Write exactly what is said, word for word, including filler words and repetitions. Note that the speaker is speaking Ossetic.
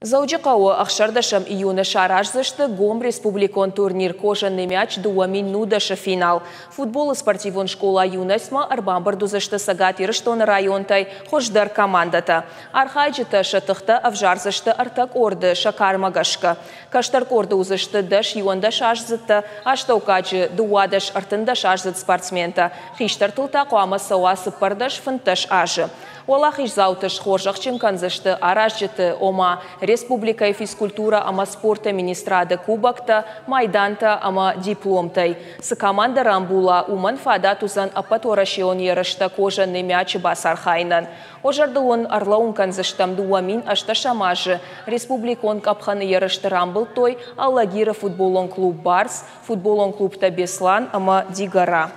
Дзӕуджыхъӕуы ӕхсӕрдӕсӕм июны сараздзысты гом республикон турнир «Кожаный мяч» дыууӕ мин нудӕсы финал. Футболы спортивон скъола «Юность»-мӕ ӕрбамбырд уыдзысты Цӕгат Ирыстоны районтӕй хуыздӕр командӕтӕ. Архайджытӕ сӕ тыхтӕ ӕвзардзысты ӕртӕ къорды сӕ кармӕ гӕсгӕ. Кӕстӕр къорды уыдзысты дӕс иуӕндӕсаздзыдтӕ, астӕуккаджы дыууадӕс ӕртындӕсаздзыд спортсментӕ, хистӕртыл та хъуамӕ цӕуа цыппӕрдӕс фынддӕс азы. Уӕлахиздзауты схорзӕхджын кӕндзысты аразджыты, ома республикӕйы физкультурӕ ӕмӕ спорты министрады кубоктӕ, майдантӕ ӕмӕ дипломтӕй. Цы командӕ рамбула, уымӕн фадат уыдзӕн ӕппӕтуӕрӕсеон ерыстӕ «Кожаный мяч»-ы бацархайынӕн. Уӕ зӕрдыл уын ӕрлӕууын кӕндзыстӕм, дыууӕ мин ӕстдӕсӕм азы республикон къӕпхӕны ерысты рамбылдтой Алагиры футболон клуб «Барс», футболон клубтӕ «Беслан» ӕмӕ «Дигора».